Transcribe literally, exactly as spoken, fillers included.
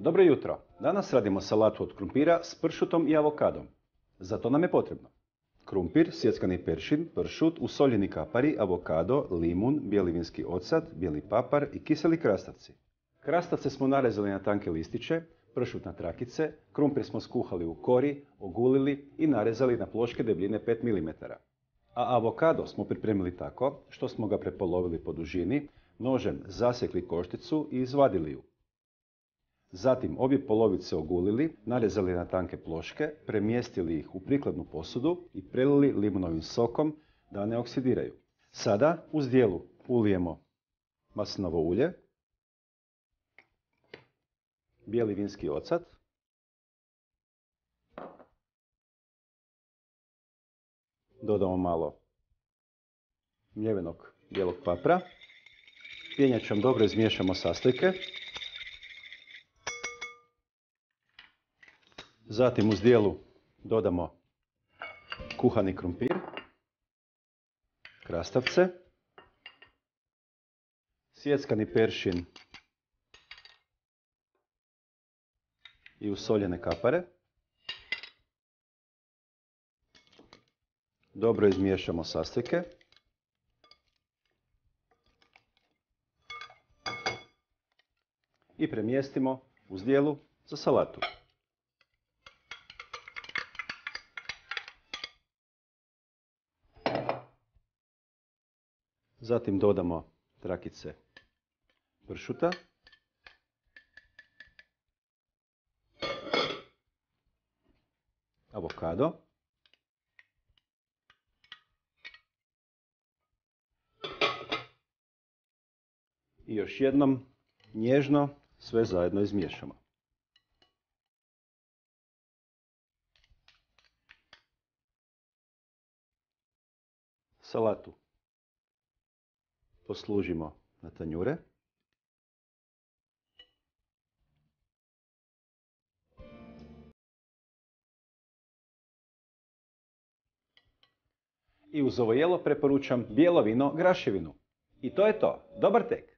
Dobro jutro. Danas radimo salatu od krumpira s pršutom i avokadom. Za to nam je potrebno krumpir, sjeckani peršin, pršut, usoljeni kapari, avokado, limun, bijeli vinski ocat, bijeli papar i kiseli krastavci. Krastavce smo narezali na tanke listiće, pršut na trakice, krumpir smo skuhali u kori, ogulili i narezali na ploške debljine pet milimetara. A avokado smo pripremili tako što smo ga prepolovili po dužini, nožem zasjekli košticu i izvadili ju. Zatim obje polovice ogulili, narezali na tanke ploške, premjestili ih u prikladnu posudu i prelili limunovim sokom da ne oksidiraju. Sada u zdjelu ulijemo maslinovo ulje, bijeli vinski ocat, dodamo malo mljevenog bijelog papra, pjenjačom dobro izmiješamo sastojke. Zatim u zdjelu dodamo kuhani krumpir, krastavce, sjeckani peršin i usoljene kapare. Dobro izmiješamo sastojke. I premjestimo u zdjelu za salatu. Zatim dodamo trakice pršuta, avokado, i još jednom nježno sve zajedno izmiješamo. Salatu poslužimo na tanjure. I uz ovo jelo preporučam bijelo vino graševinu. I to je to. Dobar tek!